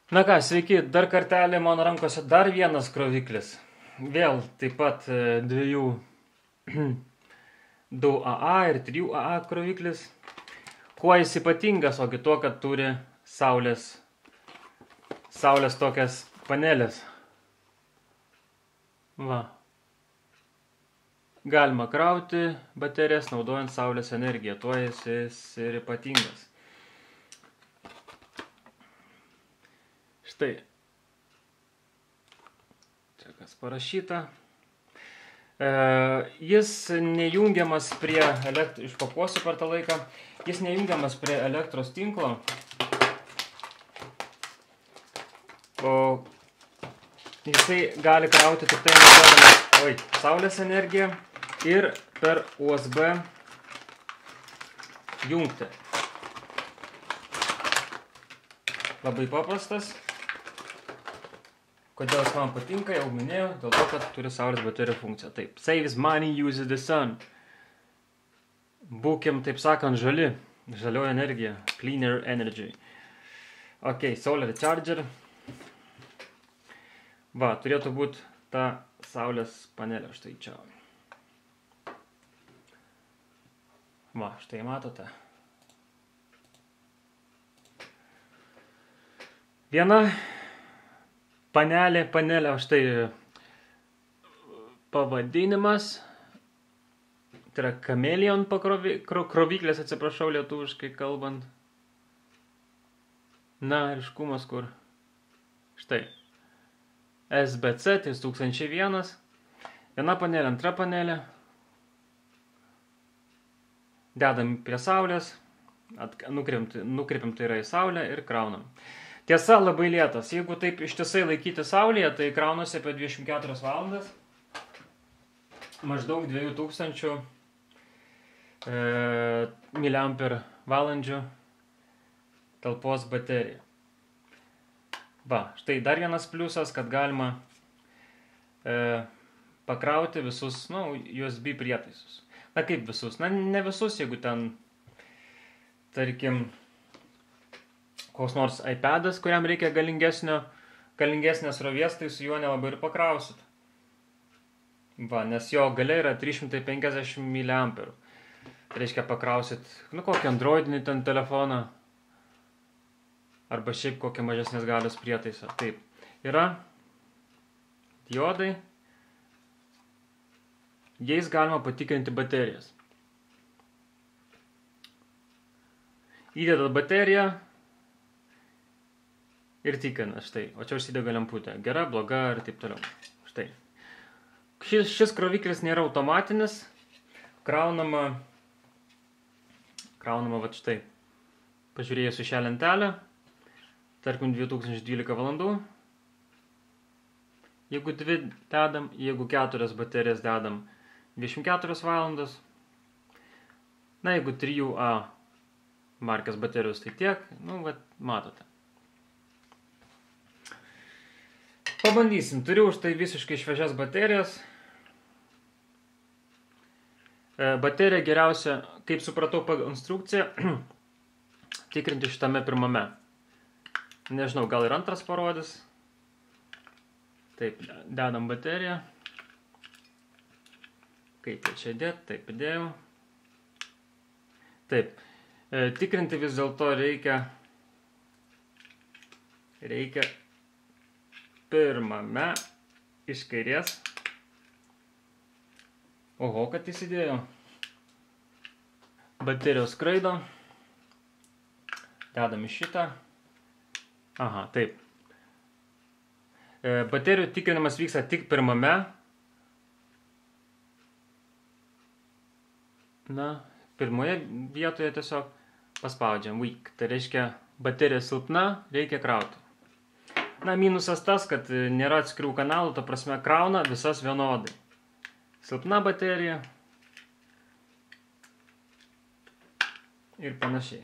Na ką, sveiki, dar kartelį mano rankose dar vienas kroviklis. Vėl taip pat 2AA ir 3AA kroviklis. Kuo jis ypatingas, ogi tuo, kad turi saulės tokias panelės. Va. Galima krauti baterijas naudojant saulės energiją, tuo jis ir ypatingas. Štai. Čia kas parašyta. Jis nejungiamas prie išpakuosiu per tą laiką. Jis nejungiamas prie elektros tinklo. O jisai gali krauti tik tai naudodamas saulės energiją ir per USB jungti. Labai paprastas. Kodėl jis man patinka, jau minėjau, dėl to, kad turi saulės baterijų funkciją. Taip, saves money, uses the sun. Būkim, taip sakant, žali. Žalioji energija. Cleaner energy. Ok, solar charger. Va, turėtų būti ta saulės panelė. Štai čia. Va, štai matote. Viena panelė, štai pavadinimas, tai yra Chameleon kroviklės, atsiprašau lietuviškai kalbant. Na, ryškumas kur? Štai. SBC 3001. Viena panelė, antra panelė. Dedam prie saulės, nukreipiam tai yra į saulę ir kraunam. Tiesa, labai lėtas. Jeigu taip ištisai laikyti saulėje, tai kraunasi apie 24 valandas. Maždaug 2000 mAh talpos baterija. Va, štai dar vienas pliusas, kad galima pakrauti visus, USB prietaisus. Na kaip visus? Na ne visus, jeigu ten, tarkim, koks nors iPadas, kuriam reikia galingesnės rovės, tai su juo nelabai ir pakrausit. Va, nes jo galia yra 350 mAh. Tai reiškia pakrausit, kokį androidinį ten telefoną, arba šiaip kokią mažesnės galios prietaisą. Taip, yra diodai. Jais galima patikrinti baterijas. Įdedat bateriją ir tikrina, štai. O čia užsidega lemputė. Gera, bloga ir taip toliau. Štai. Šis kroviklis nėra automatinis. Kraunama va štai. Pažiūrėjus į šią lentelę. Tarkim 2012 valandų. Jeigu 2 dedam, jeigu 4 baterijas dedam 24 valandas. Na, jeigu 3A markės baterijos, tai tiek. Matote. Pabandysim. Turiu už tai visiškai šviežias baterijas. Bateriją geriausia, kaip supratau pagal instrukciją, tikrinti šitame pirmame. Nežinau, gal ir antras parodys. Taip, dedam bateriją. Kaip čia dėt, taip įdėjau. Taip, tikrinti vis dėlto reikia pirmame iš kairės. Oho, kad įsidėjo. Baterijos skraido. Dedam į šitą. Aha, taip. Baterijų tikrinimas vyksta tik pirmame. Na, pirmoje vietoje tiesiog paspaudžiam weak. Tai reiškia, baterija silpna, reikia krauti. Na, minusas tas, kad nėra atskirų kanalų, ta prasme krauna visas vienodai. Silpna baterija ir panašiai.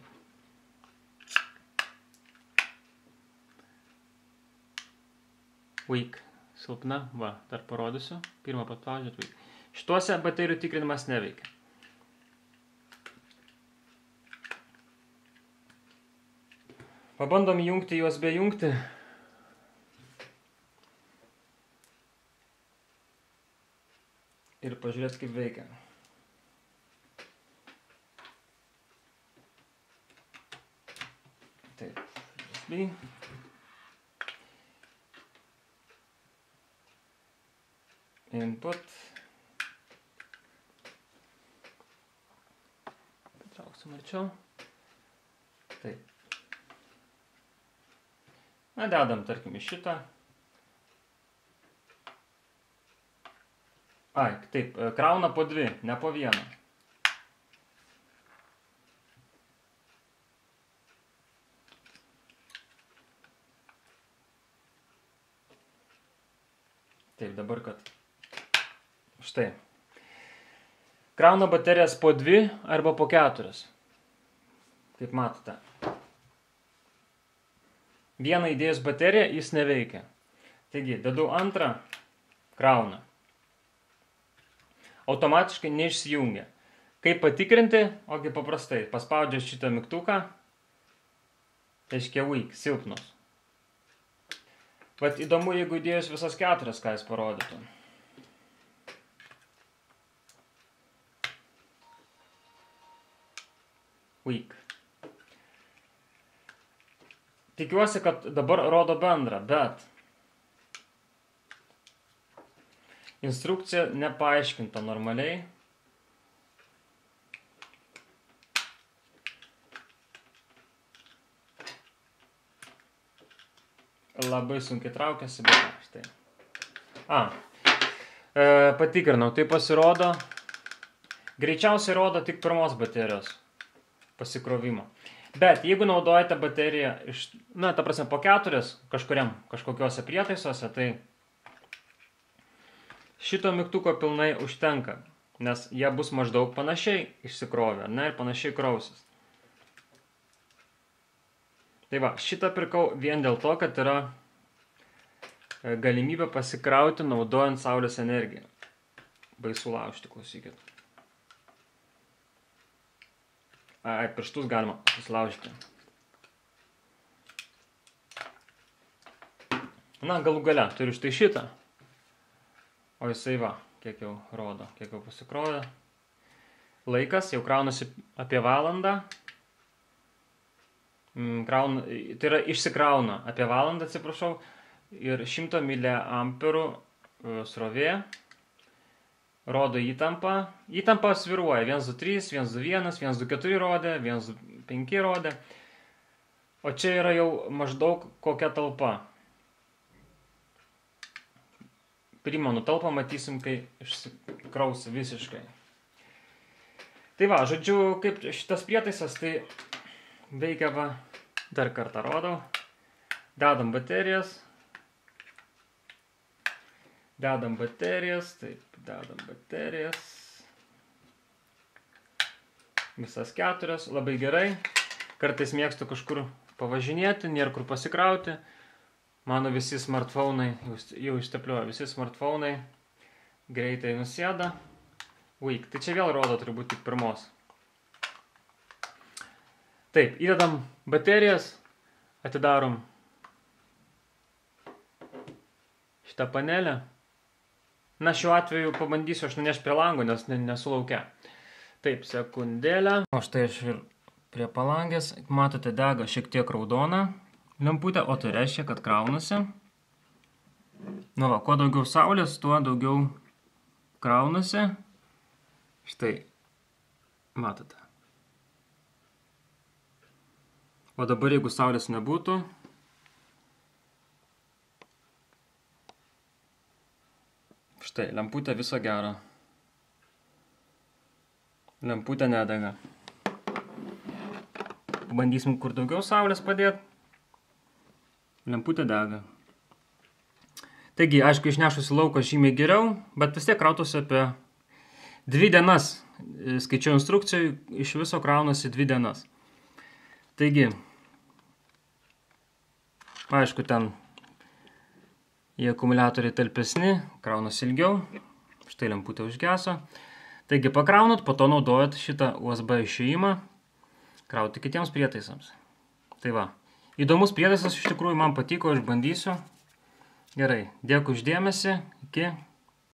Weak. Silpna. Va, dar parodysiu. Pirmą paspaudžiat weak. Šituose baterijų tikrinimas neveikia. Pabandom jungti juos be jungti. pažiūrėti, kaip veikia. Taip, USB. Input. Patrauksim arčiau. Taip. Na, dedam, tarkim, į šitą. Ai, taip, krauna po 2, ne po 1. Taip, dabar kad. Štai. Krauna baterijas po 2 arba po 4. Kaip matote. Vieną įdėjus bateriją, jis neveikia. Taigi, dedu antrą, krauna. Automatiškai neišsijungia. Kaip patikrinti, ogi paprastai, paspaudžiu šitą mygtuką, tai reiškia weak, silpnus. Vat įdomu, jeigu įdėjus visas 4, ką jis parodytų. Weak. Tikiuosi, kad dabar rodo bendrą, bet instrukcija nepaaiškinta normaliai. Labai sunkiai traukiasi, bet štai. Patikrinau, tai pasirodo, greičiausiai rodo tik pirmos baterijos pasikrovimo. Bet jeigu naudojate bateriją iš, ta prasme, po 4 kažkokiuose prietaisuose, tai šito mygtuko pilnai užtenka, nes jie bus maždaug panašiai išsikrovę, ir panašiai krausis. Tai va, šitą pirkau vien dėl to, kad yra galimybė pasikrauti naudojant saulės energiją. Baisu laužti, klausykit. Ai, pirštus galima susilaužyti. Na, galų gale, turiu štai šitą. O jisai va, kiek jau rodo, kiek jau pasikrovė. Laikas jau kraunasi apie valandą. Tai yra išsikrauna apie valandą, atsiprašau. Ir 100 mA srovė. Rodo įtampą. Įtampa sviruoja. 123, 121, 124 rodė, 125 rodė. O čia yra jau maždaug kokia talpa. Primenu talpą, matysim, kai išsikrausi visiškai. Tai va, žodžiu, kaip šitas prietaisas, tai veikia va, dar kartą rodau. Dedam baterijas. Dedam baterijas, taip, dedam baterijas. Visas 4, labai gerai. Kartais mėgstu kažkur pavažinėti, nėra kur pasikrauti. Mano visi smartfonai, jau išteplioja, visi smartfonai greitai nusėda. Weak, tai čia vėl rodo turbūt tik pirmos. Taip, įdedam baterijas, atidarom šitą panelę. Na, šiuo atveju pabandysiu aš nunešti prie lango, nes nesu lauke. Taip, sekundėlę. O štai aš ir prie palangės. Matote, dega šiek tiek raudona lemputė, o tai reiškia, kad kraunasi. Nu va, kuo daugiau saulės, tuo daugiau kraunasi. Štai, matote. O dabar, jeigu saulės nebūtų, štai, lemputė viso gero. Lemputė nedega. Pabandysim kur daugiau saulės padėti. Lemputė dega. Taigi, aišku, išnešusi lauko žymiai geriau, bet vis tiek krautųsi apie 2 dienas. Skaičiau instrukcijų, iš viso kraunasi 2 dienas. Taigi, aišku, ten į akumuliatoriai talpesni, kraunasi ilgiau. Štai lemputė užgeso. Taigi pakraunat, po to naudojat šitą USB išėjimą krauti kitiems prietaisams. Tai va. Įdomus prietaisas iš tikrųjų man patiko, aš bandysiu. Gerai, dėkui už dėmesį. Iki.